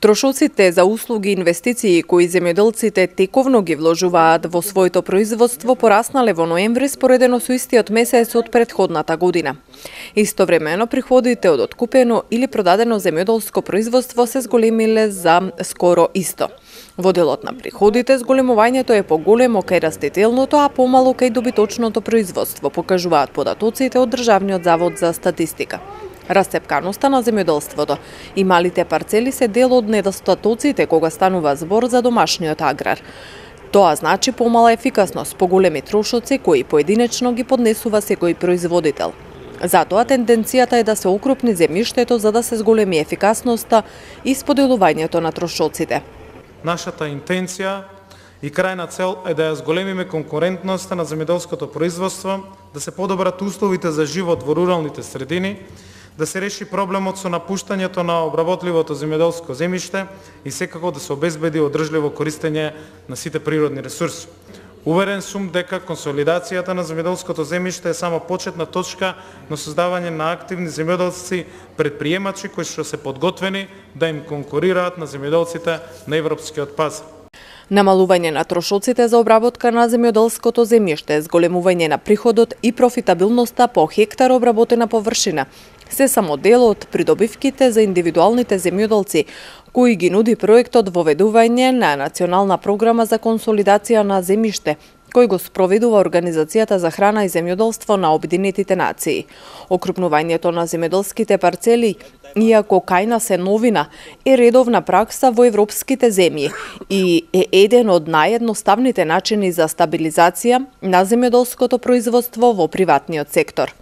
Трошоците за услуги и инвестиции кои земјоделците тековно ги вложуваат во своето производство пораснале во ноември споредено со истиот месец од претходната година. Истовремено приходите од откупено или продадено земјоделско производство се зголемиле за скоро исто. Во делот на приходите зголемувањето е поголемо кај растителното, а помало кај добиточното производство, покажуваат податоците од Државниот завод за статистика. Растепканоста на земјоделството и малите парцели се дел од недостатоците кога станува збор за домашниот аграр. Тоа значи помала ефикасност, поголеми трошоци кои поединечно ги поднесува секој производител. Затоа тенденцијата е да се окрупни земјиштето за да се зголеми ефикасноста и споделувањето на трошоците. Нашата интенција и крајна цел е да ја зголемиме конкурентноста на земјоделското производство, да се подобрат условите за живот во руралните средини, да се реши проблемот со напуштањето на обработливото земјоделско земјиште и секако да се обезбеди одржливо користење на сите природни ресурси. Уверен сум дека консолидацијата на земјоделското земјиште е само почетна точка на создавање на активни земјоделци предприемачи кои што се подготвени да им конкурираат на земјоделците на европскиот пазар. Намалување на трошоците за обработка на земјоделското земјиште, зголемување на приходот и профитабилноста по хектар обработена површина се само дел од придобивките за индивидуалните земјоделци, кои ги нуди проектот воведување на национална програма за консолидација на земјиште, кој го спроведува Организацијата за храна и земјоделство на Обединетите нации. Окрупнувањето на земјоделските парцели, иако кај нас е новина, е редовна пракса во европските земји и е еден од наједноставните начини за стабилизација на земјоделското производство во приватниот сектор.